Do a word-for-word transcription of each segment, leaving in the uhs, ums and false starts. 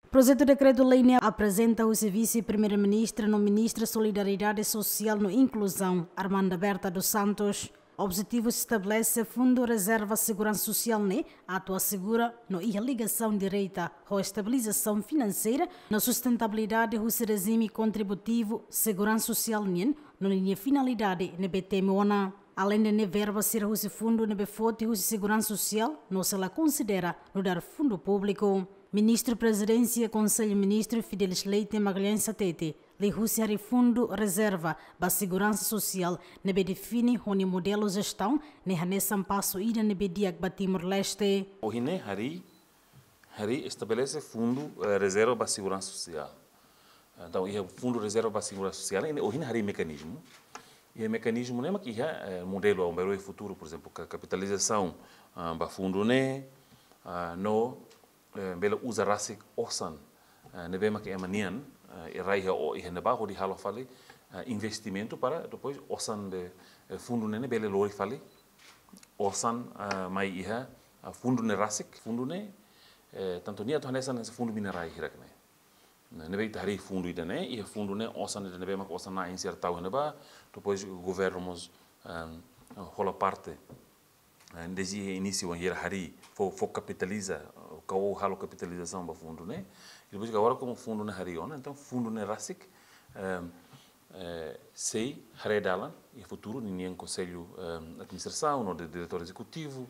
Projetu dekretu-lei ne'e aprezenta husi Vise-Primeiru-Ministru no Ministra Solidariedade Sosiál no Inkluzaun, Armanda Berta dos Santos. Objetivu estabelese Fundu Rezerva Seguransa Sosiál ne'e atu asegura no iha ligasaun direta ho estabilizasaun finanseira no sustentabilidade husi rejime kontributivu seguransa sosiál nian, no ninia finalidade ne'ebé temi ona. Aleinde ne'e, verba sira husi fundu ne'ebé foti husi seguransa sosiál no sei la konsidera nu'udar fundu públiku. Ministru Prezidénsia Konsellu Ministru Fidelis Leite Magalhães hatete, liuhusi harii fundu rezerva ba seguransa sosiál ne'ebé define ho nia modelu jestaun, ne'e hanesan pasu ida ne'ebé di'ak ba Timor-Leste. Ohin ne'e harii, harii estabelese fundu, eh, rezerva ba seguransa sosiál. Entaun, iha fundu rezerva ba seguransa sosiál, ne'e ohin harii mekanizmu. Iha mekanizmu ne'e mak iha, eh, modelu, ah, bainhira futuru, por ezemplu, ka-, kapitalizasaun, ah, ba fundu ne'e, ah, no, eh, bele uza rasik osan, eh, ne'ebé mak ema nian, eh, rai iha o-, iha ne'ebá hodi halo fali, eh, investimentu para depois osan de, eh, fundu ne'e ne'e bele lori fali osan, eh, mai iha, eh, fundu ne'e rasik, fundu ne'e, eh, tantu nia atu hanesan, hanesan fundu minerais hirak ne'e. Ne'e, ne'ebé ita harii fundu ida-ne'e, iha fundu ne'e osan ida ne'ebé mak osan na'in sira tau iha ne'ebá, depois governu mós, ehm, hola parte, eh, dezde inísiu bainhira harii, fó, fó kapitaliza, ka halo kapitalizasaun ba fundu ne'e. I depois agora komu fundu ne'e harii ona, entaun fundu ne'e rasik, ehm, eh, sei haree dalan iha futuru, ninian konsellu, ehm, administrasaun, no di-, diretór ezekutivu,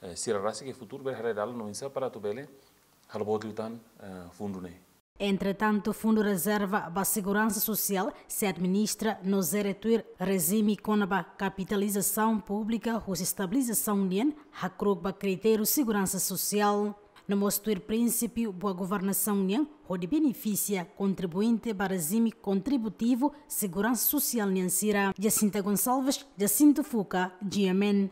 eh, sira rasik iha futuru bele haree dalan no oinsá para atu bele halo boot liután, eh, fundu ne'e. Entretantu, Fundu Rezerva ba Seguransa Sosiál sei administra no jere tuir rejime kona-ba kapitalizasaun públika husi estabilizasaun nian, hakru'uk ba kritériu seguransa sosiál. No mós tuir prinsípiu boa governasaun nian, hodi benefisia kontribuinte ba rejime kontributivu seguransa sosiál nian sira. Jacinta Gonçalves, Jacinto Fuca, G M N.